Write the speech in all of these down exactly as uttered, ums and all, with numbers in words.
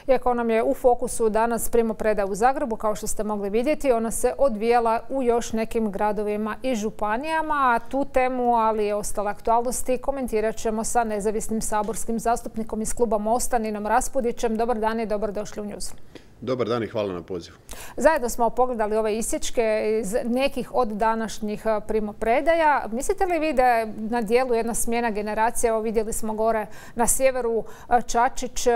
Iako nam je u fokusu danas primopredaja u Zagrebu, kao što ste mogli vidjeti, ona se odvijela u još nekim gradovima i županijama, a tu temu, ali i ostale aktualnosti, komentirat ćemo sa nezavisnim saborskim zastupnikom iz kluba Mosta, Ninom Raspudićem. Dobar dan i dobrodošli u News. Dobar dan i hvala na pozivu. Zajedno smo pogledali ove isječke iz nekih od današnjih primopredaja. Mislite li vi da je na dijelu jedna smjena generacija? Evo vidjeli smo gore na sjeveru Čačić,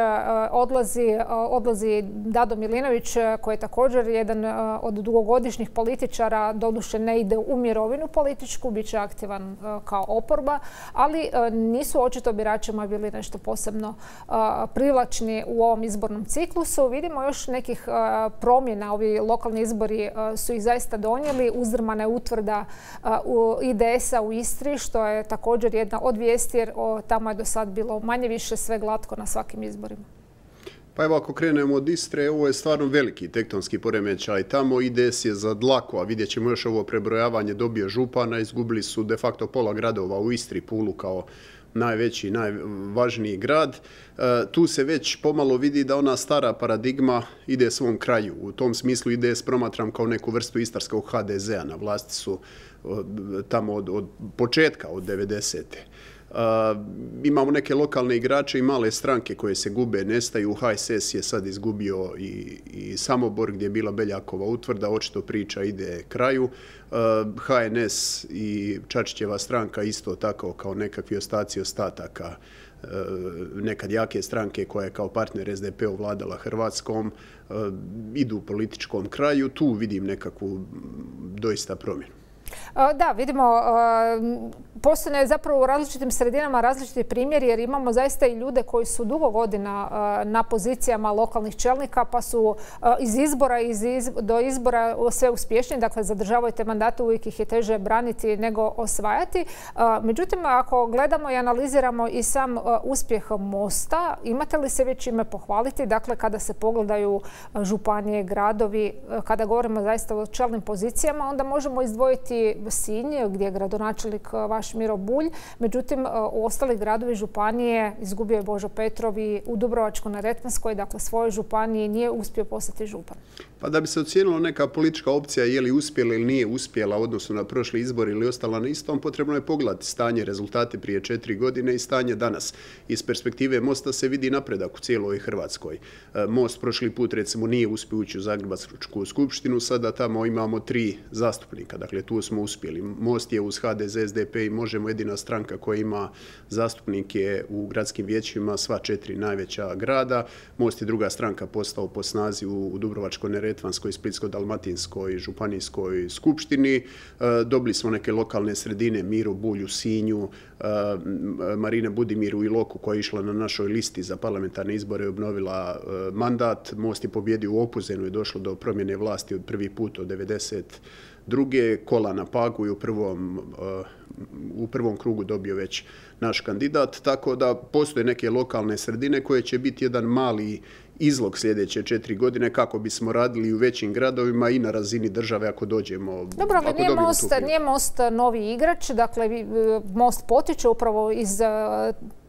odlazi, odlazi Dado Milinović, koji je također jedan od dugogodišnjih političara, doduše ne ide u mirovinu političku, bit će aktivan kao oporba, ali nisu očito biračima bili nešto posebno privlačni u ovom izbornom ciklusu. Vidimo još nekih promjena. Ovi lokalni izbori su ih zaista donijeli. Uzdrmana je utvrda I D S-a u Istri, što je također jedna od vijesti, jer tamo je do sad bilo manje više sve glatko na svakim izborima. Pa evo, ako krenemo od Istre, ovo je stvarno veliki tektonski poremećaj. Tamo I D S je za dlaku, a vidjet ćemo još ovo prebrojavanje, dobio župana, izgubili su de facto pola gradova u Istri, Pulu kao najveći, najvažniji grad. Tu se već pomalo vidi da ona stara paradigma ide svom kraju. U tom smislu I D S promatram kao neku vrstu istarskog H D Z-a. Na vlasti su tamo od, od početka, od devedesete. Uh, imamo neke lokalne igrače i male stranke koje se gube, nestaju. H S S je sad izgubio i, i Samobor gdje je bila Beljakova utvrda, očito priča ide kraju. Uh, H N S i Čačićeva stranka isto tako kao nekakvi ostaci ostataka uh, nekad jake stranke koja je kao partner S D P-u vladala Hrvatskom, uh, idu u političkom kraju. Tu vidim nekakvu doista promjenu. Da, vidimo, postoje zapravo u različitim sredinama različiti primjeri, jer imamo zaista i ljude koji su dugo godina na pozicijama lokalnih čelnika, pa su iz izbora iz do izbora sve uspješniji, dakle zadržavaju te mandate, uvijek ih je teže braniti nego osvajati. Međutim, ako gledamo i analiziramo i sam uspjeh Mosta, imate li se već ime pohvaliti? Dakle, kada se pogledaju županije, gradovi, kada govorimo zaista o čelnim pozicijama, onda možemo izdvojiti Sinj, gdje je gradonačelnik vaš Miro Bulj. Međutim, u ostalih gradovi županije izgubio je Božo Petrov i u Dubrovačko-neretvanskoj, dakle svojoj županiji, nije uspio postati župan. Pa da bi se ocijenilo neka politička opcija je li uspjela ili nije uspjela u odnosu na prošli izbor ili ostala na istom, potrebno je pogledati stanje, rezultate prije četiri godine i stanje danas. Iz perspektive Mosta se vidi napredak u cijeloj Hrvatskoj. Most prošli put recimo nije uspio ući u Zagrebačku skupštinu, sada tamo imamo tri zastupnika, dakle tu smo uspjeli. Most je uz H D Z, S D P i Možemo jedina stranka koja ima zastupnike u gradskim vijećima, sva četiri najveća grada. Most je druga stranka postao po snazi u Dubrovačko-neretvanskoj, Splitsko-dalmatinskoj, županijskoj skupštini. Dobili smo neke lokalne sredine, Miro Bulj u Sinju, Marina Budimir u Iloku koja je išla na našoj listi za parlamentarne izbore i obnovila mandat. Most je pobjedio u Opuzenu i došlo do promjene vlasti od prvi put od devedeset druge. Kola na Pagu i u prvom, u prvom krugu dobio već naš kandidat. Tako da postoje neke lokalne sredine koje će biti jedan mali izlog sljedeće četiri godine kako bismo radili u većim gradovima i na razini države ako dođemo. Dobro, ali nije Most, nije Most novi igrač, dakle Most potiče upravo iz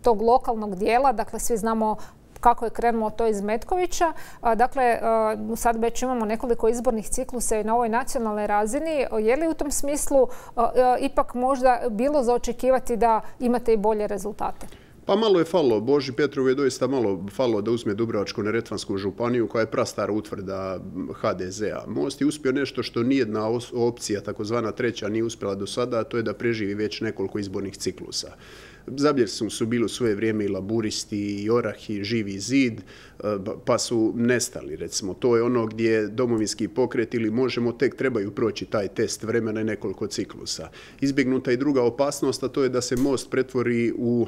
tog lokalnog dijela, dakle svi znamo kako je krenulo to iz Metkovića. Dakle, sad već imamo nekoliko izbornih ciklusa i na ovoj nacionalnoj razini. Je li u tom smislu ipak možda bilo za očekivati da imate i bolje rezultate? Pa malo je falilo. Boži Petrov je doista malo falilo da uzme Dubrovačko-neretvansku županiju koja je prastara utvrda H D Z-a. Most je uspio nešto što nijedna opcija, takozvana treća, nije uspjela do sada, a to je da preživi već nekoliko izbornih ciklusa. Zabljesni su bili u svoje vrijeme i laburisti, i Orah, i Živi zid, pa su nestali, recimo. To je ono gdje domovinski pokret ili Možemo tek trebaju proći taj test vremena i nekoliko ciklusa. Izbjegnuta i druga opasnost, a to je da se Most pretvori u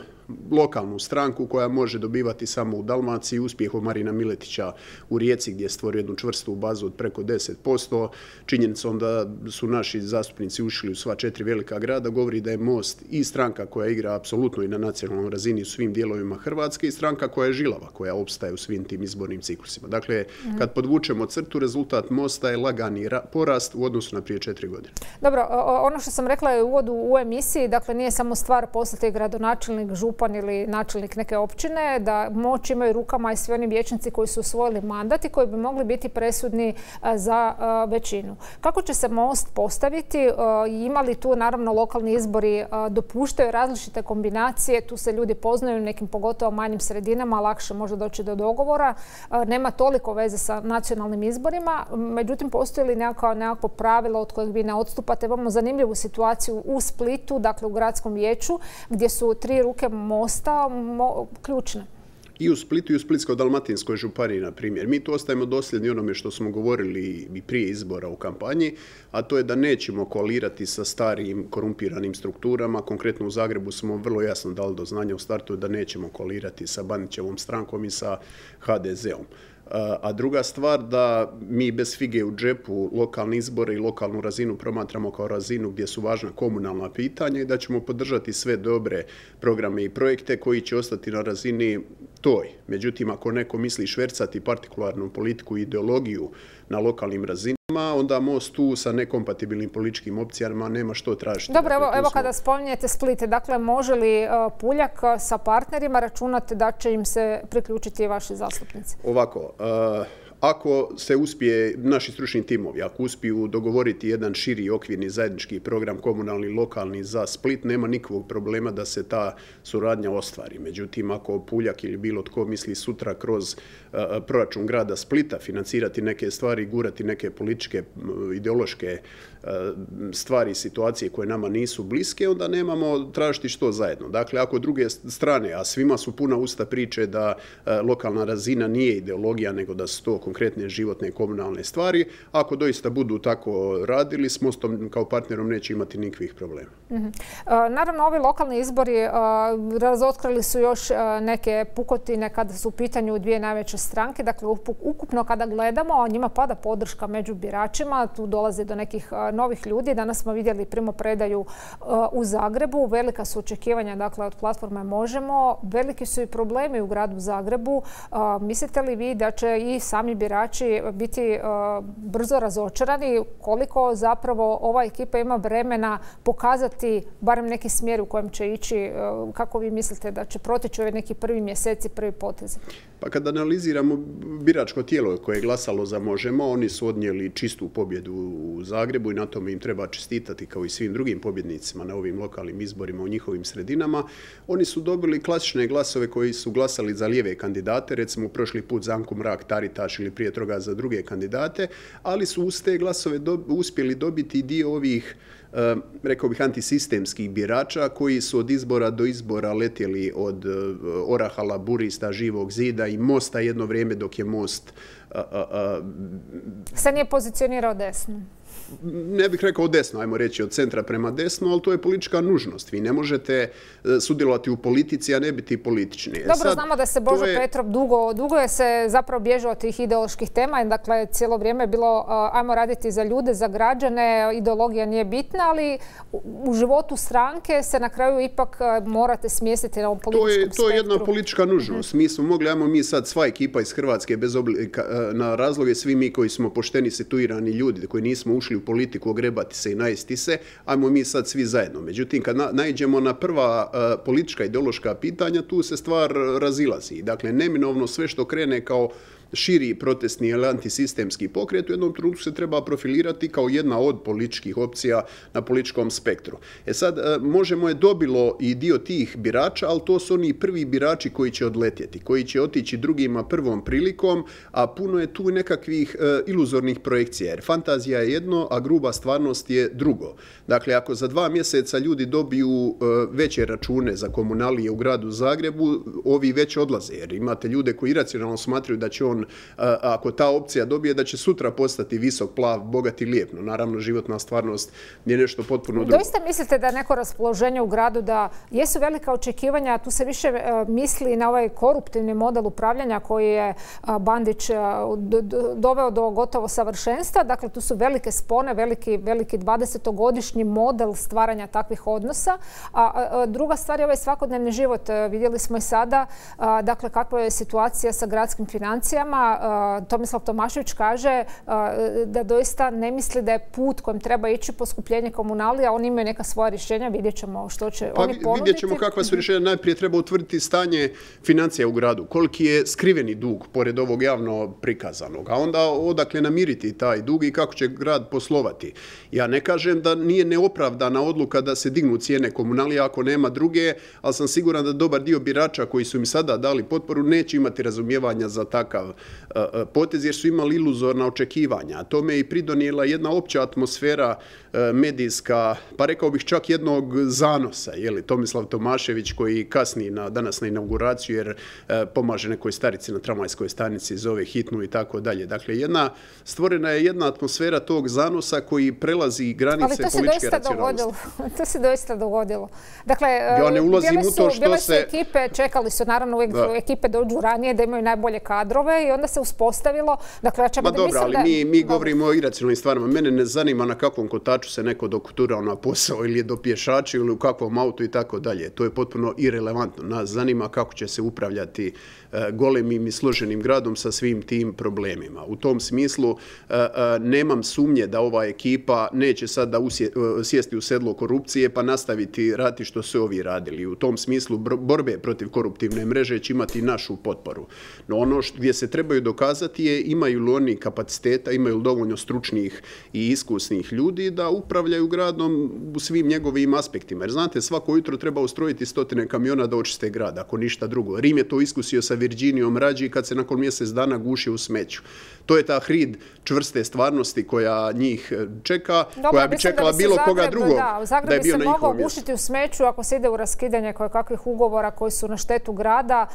lokalnu stranku koja može dobivati samo u Dalmaciji, uspjehom Marina Miletića u Rijeci gdje je stvorio jednu čvrstu bazu od preko deset posto. Činjenicom da su naši zastupnici ušli u sva četiri velika grada govori da je Most i stranka koja igra apsolutno apsolutno i na nacionalnoj razini u svim dijelovima Hrvatske i stranka koja je žilava, koja opstaje u svim tim izbornim ciklusima. Dakle, kad podvučemo crtu, rezultat Mosta je lagani porast u odnosu na prije četiri godine. Dobro, ono što sam rekla je u uvodu u emisiji, dakle nije samo stvar postati gradonačelnik, župan ili načelnik neke općine, da moć imaju rukama i svi oni vijećnici koji su osvojili mandat i koji bi mogli biti presudni za većinu. Kako će se Most postaviti? Ima li tu naravno lokalni izbori dopuštaju različite kombinacije, tu se ljudi poznaju u nekim pogotovo manjim sredinama, lakše može doći do dogovora. Nema toliko veze sa nacionalnim izborima, međutim postoji li nekako, nekako pravilo od kojeg vi ne odstupate? Imamo zanimljivu situaciju u Splitu, dakle u gradskom vijeću, gdje su tri ruke Mosta mo, ključne. I u Splitu i u Splitsko-dalmatinskoj županiji, na primjer. Mi tu ostajemo dosljedni onome što smo govorili i prije izbora u kampanji, a to je da nećemo koalirati sa starim korumpiranim strukturama. Konkretno u Zagrebu smo vrlo jasno dali do znanja u startu da nećemo koalirati sa Bandićevom strankom i sa ha de zeom. A druga stvar, da mi bez fige u džepu lokalne izbore i lokalnu razinu promatramo kao razinu gdje su važna komunalna pitanja i da ćemo podržati sve dobre programe i projekte koji će ostati na razini toj. Međutim, ako neko misli švercati partikularnu politiku i ideologiju na lokalnim razinama, onda Most tu sa nekompatibilnim političkim opcijama nema što tražiti. Dobro, evo, evo kada spominjete Split, dakle može li uh, Puljak sa partnerima računati da će im se priključiti vaši zastupnici? Ovako, uh, ako se uspije, naši stručni timovi, ako uspiju dogovoriti jedan širi okvirni zajednički program komunalni, lokalni za Split, nema nikakvog problema da se ta suradnja ostvari. Međutim, ako Puljak ili bilo tko misli sutra kroz uh, proračun grada Splita financirati neke stvari, gurati neke političke, ideološke uh, stvari, situacije koje nama nisu bliske, onda nemamo tražiti što zajedno. Dakle, ako druge strane, a svima su puna usta priče da uh, lokalna razina nije ideologija, nego da su to konkretne životne komunalne stvari, ako doista budu tako radili, s Mostom kao partnerom neće imati nikakvih problema. Mm-hmm. Naravno, ovi lokalni izbori razotkrili su još neke pukotine kada su u pitanju dvije najveće stranke. Dakle, ukupno kada gledamo, njima pada podrška među biračima, tu dolazi do nekih novih ljudi. Danas smo vidjeli primopredaju u Zagrebu. Velika su očekivanja, dakle, od platforme Možemo. Veliki su i problemi u gradu Zagrebu. Mislite li vi da će i sami birači biti uh, brzo razočarani, koliko zapravo ova ekipa ima vremena pokazati barem neki smjer u kojem će ići, uh, kako vi mislite da će proteći ove neki prvi mjeseci, prvi potezi? Pa kad analiziramo biračko tijelo koje je glasalo za Možemo, oni su odnijeli čistu pobjedu u Zagrebu i na tome im treba čestitati kao i svim drugim pobjednicima na ovim lokalnim izborima u njihovim sredinama. Oni su dobili klasične glasove koji su glasali za lijeve kandidate, recimo prošli put za Anku Mrak-Taritaš ili prije toga za druge kandidate, ali su uz te glasove do, uspjeli dobiti dio ovih, e, rekao bih, antisistemskih birača koji su od izbora do izbora letjeli od e, Oraha, Laburista, Živog zida i Mosta jedno vrijeme dok je Most a, a, a, se nije pozicionirao desno. Ne bih rekao desno, ajmo reći od centra prema desno, ali to je politička nužnost. Vi ne možete sudjelovati u politici, a ne biti politični. Dobro, Sad, znamo da se Božo je... Petrov dugo, dugo je se zapravo bježao od tih ideoloških tema. Dakle, cijelo vrijeme je bilo ajmo raditi za ljude, za građane, ideologija nije bitna, ali u životu stranke se na kraju ipak morate smjestiti na ovom političkom spektru. To je, to je jedna politička nužnost. Mm-hmm. Mi smo mogli, ajmo mi sad sva ekipa iz Hrvatske, bez oblika, na razloge, svi mi koji smo pošteni, situirani ljudi, koji nismo ušli u politiku, ogrebati se i najesti se, ajmo mi sad svi zajedno. Međutim, kad na, naiđemo na prva uh, politička ideološka pitanja, tu se stvar razilazi. Dakle, neminovno sve što krene kao širi protestni ili antisistemski pokret u jednom trenutku se treba profilirati kao jedna od političkih opcija na političkom spektru. E sad, Možemo je dobilo i dio tih birača, ali to su oni prvi birači koji će odletjeti, koji će otići drugima prvom prilikom, a puno je tu nekakvih uh, iluzornih projekcija, jer fantazija je jedno, a gruba stvarnost je drugo. Dakle, ako za dva mjeseca ljudi dobiju uh, veće račune za komunalije u gradu Zagrebu, ovi već odlaze, jer imate ljude koji iracionalno smatraju da će on on, ako ta opcija dobije, da će sutra postati visok, plav, bogat i lijep. No, naravno, životna stvarnost je nešto potpuno drugo. Doista mislite da je neko raspoloženje u gradu, da jesu velika očekivanja, a tu se više misli na ovaj koruptivni model upravljanja koji je Bandić doveo do gotovo savršenstva. Dakle, tu su velike spone, veliki, veliki dvadesetogodišnji model stvaranja takvih odnosa. A druga stvar je ovaj svakodnevni život. Vidjeli smo i sada, dakle, kakva je situacija sa gradskim financijama. Tomislav Tomašević kaže da doista ne misli da je put kojim treba ići poskupljenje komunalija. Oni imaju neka svoja rješenja, vidjet ćemo što će pa, oni ponuditi. Vidjet ćemo kakva su rješenja. Najprije treba utvrditi stanje financija u gradu. Koliki je skriveni dug, pored ovog javno prikazanog. A onda odakle namiriti taj dug i kako će grad poslovati. Ja ne kažem da nije neopravdana odluka da se dignu cijene komunalija ako nema druge, ali sam siguran da dobar dio birača koji su im sada dali potporu neće imati razumijevanja za takav uh, potez jer su imali iluzorna očekivanja. A tome je i pridonijela jedna opća atmosfera uh, medijska, pa rekao bih čak jednog zanosa. Jeli, Tomislav Tomašević koji kasni na, danas na inauguraciju jer uh, pomaže nekoj starici na tramvajskoj stanici, zove hitnu i tako dalje. Dakle, jedna, stvorena je jedna atmosfera tog zanosa koji prelazi granice političke racionalnosti. To se doista dogodilo. Dakle, ja ne ulazim su, u to što bile se... su ekipe, čekali su naravno uvijek da. ekipe dođu ranije da imaju najbolje kadrove i onda se uspostavilo. Dakle, ja čak Ma da dobro, mislim ali da... mi, mi govorimo o iracionalnim stvarima. Mene ne zanima na kakvom kotaču se neko dokuturao na posao ili je do pješača ili u kakvom autu i tako dalje. To je potpuno irelevantno. Nas zanima kako će se upravljati uh, golemim i složenim gradom sa svim tim problemima. U tom smislu uh, uh, nemam sumnje da ova ekipa neće sada usje, uh, sjesti u sedlo korupcije pa nastaviti raditi što su ovi radili. U tom smislu borbe protiv koruptivne mreže će imati našu potporu. No ono što, gdje se trebaju dokazati je imaju li oni kapaciteta, imaju li dovoljno stručnih i iskusnih ljudi da upravljaju gradom u svim njegovim aspektima. Jer znate, svako jutro treba ustrojiti stotine kamiona da očiste grad, ako ništa drugo. Rim je to iskusio sa Virginijom Rađi kad se nakon mjesec dana guši u smeću. To je ta hrid čvrste stvarnosti koja njih čeka, Dobro, koja bi čekala bi bilo Zagreb, koga drugog da, da, da je bio na njihovom mjestu. Zagreb bi se mogao gušiti u smeću ako se ide u raskidanje kakvih ugovora koji su na štetu grada.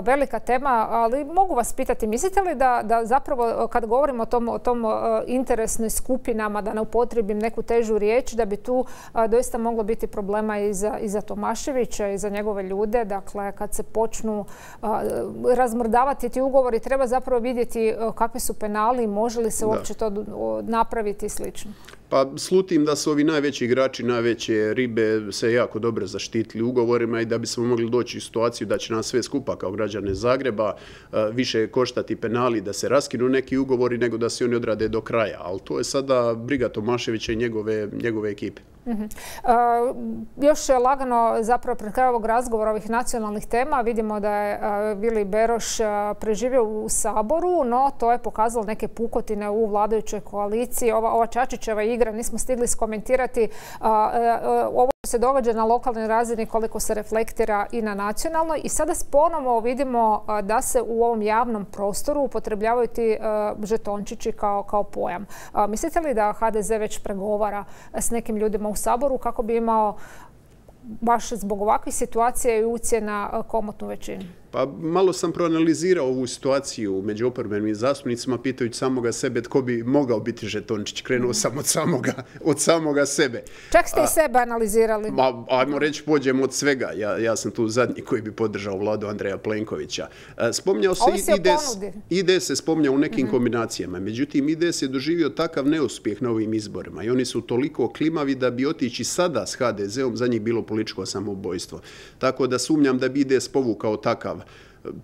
Velika tema, ali mogu vas pitati, mislite li da, da zapravo kad govorimo o tom, o tom interesnim skupinama, da ne upotrijebim neku težu riječ, da bi tu doista moglo biti problema i za, i za Tomaševića i za njegove ljude. Dakle, kad se počnu razmrdavati ti ugovori, treba zapravo vidjeti kakvi su penali, može li se uopće to napraviti i slično. Pa slutim da su ovi najveći igrači, najveće ribe se jako dobro zaštitili ugovorima i da bismo mogli doći u situaciju da će nas sve skupa kao građane Zagreba više koštati penali da se raskinu neki ugovori nego da se oni odrade do kraja. Ali to je sada briga Tomaševića i njegove, njegove ekipe. Uh-huh. uh, još lagano zapravo pred kraj ovog razgovora ovih nacionalnih tema vidimo da je uh, Vili Beroš uh, preživio u Saboru, no to je pokazalo neke pukotine u vladajućoj koaliciji. Ova, ova Čačićeva igra nismo stigli skomentirati. Uh, uh, ovo se događa na lokalnoj razini koliko se reflektira i na nacionalnoj i sada ponovo vidimo uh, da se u ovom javnom prostoru upotrebljavaju ti uh, žetončići kao, kao pojam. Uh, mislite li da ha de ze već pregovara s nekim ljudima u Saboru kako bi imao baš zbog ovakvih situacija i ucjena komotnu većinu? Pa malo sam proanalizirao ovu situaciju među oporbenim zastupnicima pitajući samoga sebe tko bi mogao biti žetončić. Krenuo sam od samoga, od samoga sebe. Čak ste i sebe analizirali. Ma, ajmo reći, pođemo od svega. Ja, ja sam tu zadnji koji bi podržao vladu Andreja Plenkovića. Spominjao se I D S, I D S se spominjao u nekim mm-hmm. kombinacijama. Međutim, I D S je doživio takav neuspjeh na ovim izborima i oni su toliko klimavi da bi otići sada s ha de zeom za njih bilo političko samoubojstvo. Tako da sumnjam da bi I D S povukao takav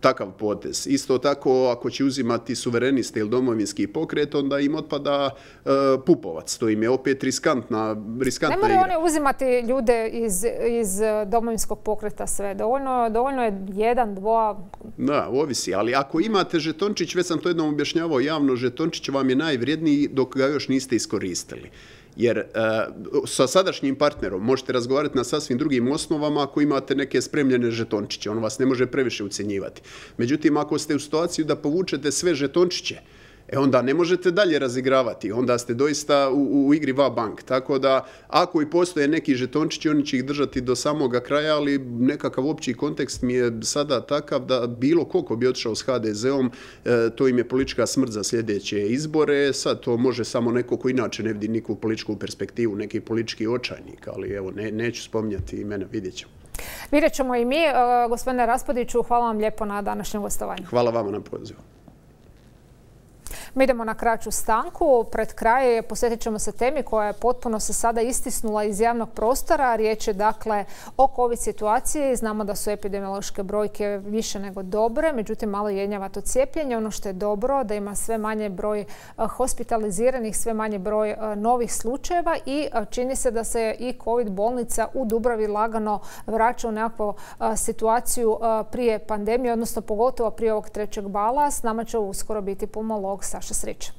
takav potez. Isto tako, ako će uzimati suvereniste ili domovinski pokret, onda im otpada uh, Pupovac. To im je opet riskantna, riskantna igra. Ne moraju oni uzimati ljude iz, iz domovinskog pokreta sve. Dovoljno, dovoljno je jedan, dva... Da, ovisi. Ali ako imate žetončić, već sam to jednom objašnjavao javno, žetončić vam je najvrijedniji dok ga još niste iskoristili. Jer uh, sa sadašnjim partnerom možete razgovarati na sasvim drugim osnovama ako imate neke spremljene žetončiće. On vas ne može previše ucjenjivati. Međutim, ako ste u situaciju da povučete sve žetončiće E onda ne možete dalje razigravati, onda ste doista u, u igri va bank. Tako da, ako i postoje neki žetončići, oni će ih držati do samoga kraja, ali nekakav opći kontekst mi je sada takav da bilo koliko bi otišao s ha de zom, e, to im je politička smrt za sljedeće izbore. Sad to može samo neko ko inače ne vidi nikakvu političku perspektivu, neki politički očajnik, ali evo, ne, neću spominjati imena, vidjet ćemo. Vidjet ćemo i mi. Gospodine Raspudiću, hvala vam lijepo na današnjem gostovanju. Hvala vama na pozivu. Mi idemo na kraću stanku. Pred kraj posjetit ćemo se temi koja je potpuno se sada istisnula iz javnog prostora. Riječ je dakle o COVID situaciji. Znamo da su epidemiološke brojke više nego dobre, međutim malo jenjava to cijepljenje. Ono što je dobro da ima sve manje broj hospitaliziranih, sve manje broj novih slučajeva i čini se da se i COVID bolnica u Dubravi lagano vraća u nekakvu situaciju prije pandemije, odnosno pogotovo prije ovog trećeg vala. S nama će uskoro biti pulmolog Saša Srić.